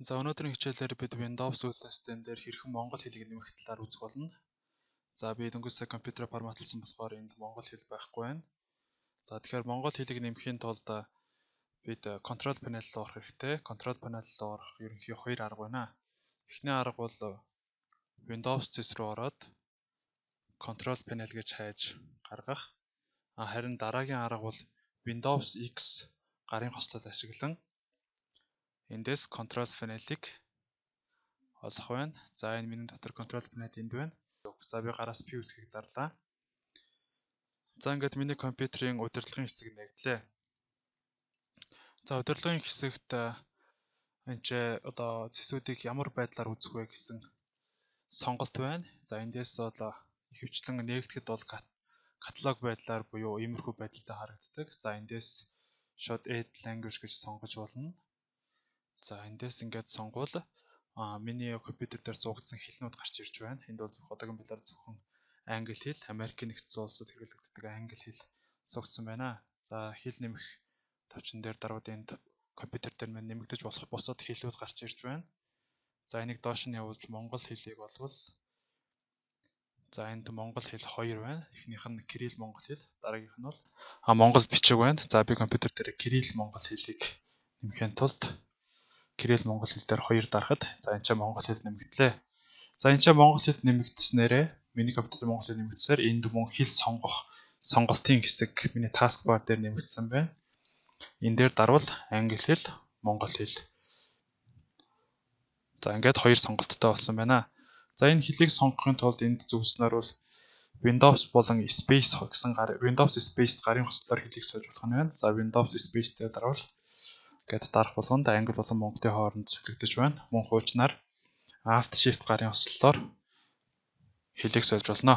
За өнөөдрийн хичээлээр бид Windows үйл систем дээр хэрхэн монгол хэлийг нэмэх талаар үзэх болно. За би дөнгөж сая компьютерээр форматлсан болохоор энд монгол хэл байхгүй байна. За тэгэхээр монгол хэлийг нэмэхийн тулд бид Control Panel руу орох хэрэгтэй. Control Panel руу орох ерөнхий хоёр арга байна. Эхний арга бол Windows зэс рүү ороод Control Panel гэж хайж гаргах. Харин дараагийн арга бол Windows X гарын хослол ашиглан эндээс Control Panel-ыг олох байна. За энэ миний дотор Control Panel энд байна. За би гараас P үсгийг дарлаа. За ингээд миний компьютерийн удирдлагын хэсэг нэгдлээ. За удирдлагын хэсэгт энэ ч одоо цэсүүдийг ямар байдлаар үзэх вэ гэсэн сонголт байна. За эндээс бол ихэвчлэн нээгдэхэд бол каталог байдлаар буюу иймэрхүү байдалтай харагддаг. За эндээс шууд Add Language гэж сонгож болно. За эндээс ингээд сонгуул миний компьютер дээр суугдсан хэлнүүд гарч ирж байна. Энд бол одоогийн байдлаар зөвхөн англи хэл, Америкийн нэгдсэн улсад хэрэглэгддэг англи хэл суугдсан байна. За хэл нэмэх тавчин дээр дарууд энд компьютер дээр мань нэмэгдэж болох бусад хэлүүд гарч ирж байна. За энийг доош нь явуулж монгол хэлийг болвол за энд монгол хэл 2 байна. Эхнийх нь Кирилл монгол хэл, дараагийнх нь бол монгол бичиг байна. За би компьютер дээр Кирилл монгол хэлийг нэмэхийн тулд Кирилл монгол хэл дээр 2 дарахад за энэ ч монгол хэл нэмэгдлээ. За энэ ч монгол хэл нэмэгдснээрээ миний компьютер монгол хэл нэмэгдсээр энд мөн хэл сонгох сонголтын хэсэг миний таскбар дээр нэмэгдсэн байна. Энэ дээр дарвал англи хэл, монгол хэл. За ингээд 2 сонголттой болсон байна. За энэ хэлийг сонгохын тулд энд зөвснөр бол Windows болон Space гэсэн Windows Space гарын хослолоор хэлийг сольж болох нь байна. За Windows Space дээр дарвал гэт дарах болгонд англи болон монголын хооронд солигдож байна. Мөн хуучнаар Alt Shift гарын хослолоор хэлийг сольж болно.